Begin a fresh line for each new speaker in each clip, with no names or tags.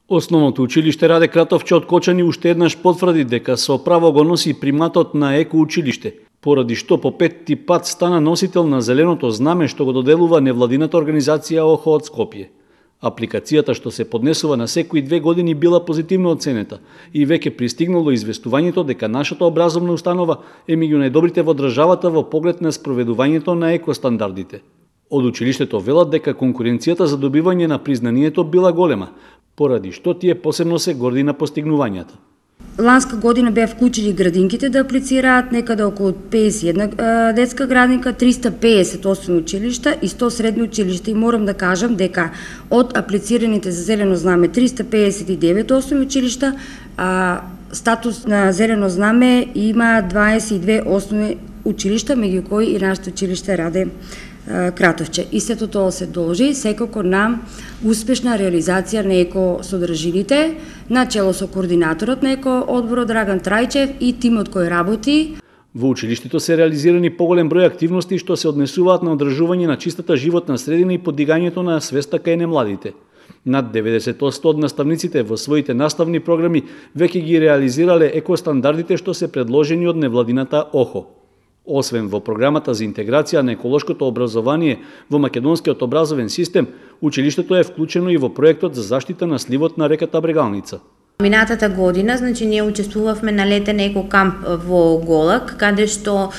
Основното училиште Раде Кратовче од Кочани уште еднаш потврди дека со право го носи приматот на еко училиште, поради што по петти пат стана носител на зеленото знаме што го доделува невладината организација ОХО од Скопје. Апликацијата што се поднесува на секои 2 години била позитивно оценета и веќе пристигнало известувањето дека нашата образовна установа е меѓу најдобрите во државата во поглед на спроведувањето на екостандардите. Од училиштето велат дека конкуренцијата за добивање на признанието била голема, поради што тие посебно се горди на постигнувањата.
Ланска година беа вклучени градинките да аплицираат некаде околу 51 детска градинка, 350 основни училишта и 100 средни училишта. И морам да кажам дека од аплицираните за зелено знаме 359 основни училишта, статус на зелено знаме има 22 основни училишта, меѓу кои и нашето училиште Раде Кратовче. И сето тоа се должи секако на успешна реализација на екосодржините, на чело со координаторот на екоодборот Драган Трајчев и тимот кој работи.
Во училиштето се реализирани поголем број активности што се однесуваат на одржување на чистата животна средина и подигањето на свеста кај немладите. Над 90% од наставниците во своите наставни програми веќе ги реализирале екостандардите што се предложени од невладината ОХО. Освен во програмата за интеграција на еколошкото образование во македонскиот образовен систем, училиштето е вклучено и во проектот за заштита на сливот на реката Брегалница.
Минатата година, ние учествувавме на летен екокамп во Голак, каде што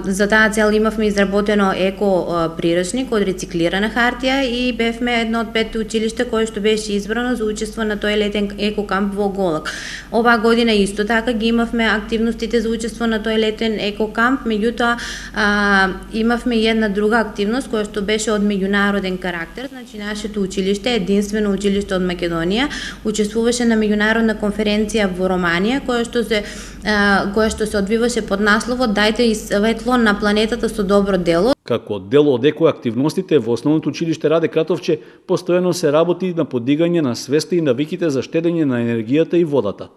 за таа цел имавме изработено еко прирачник од рециклирана хартија и бевме едно од 5 училишта кое што беше избрано за учество на тој летен екокамп во Голак. Оваа година исто така ги имавме активностите за учество на тој летен екокамп, меѓутоа имавме и една друга активност која што беше од меѓународен карактер. Нашето училиште, единствено училиште од Македонија, учествуваше на меѓународна конференција во Романија, која што се одвиваше под насловот "Дајте и светло на планетата со добро дело".
Како дел од екоактивностите во основното училиште Раде Кратовче постојано се работи на подигање на свеста и навиките за штедење на енергијата и водата.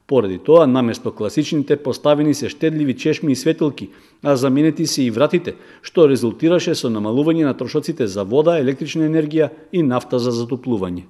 Поради тоа, наместо класичните поставени се штедливи чешми и светилки, а заменети се и вратите, што резултираше со намалување на трошоците за вода, електрична енергија и нафта за затоплување.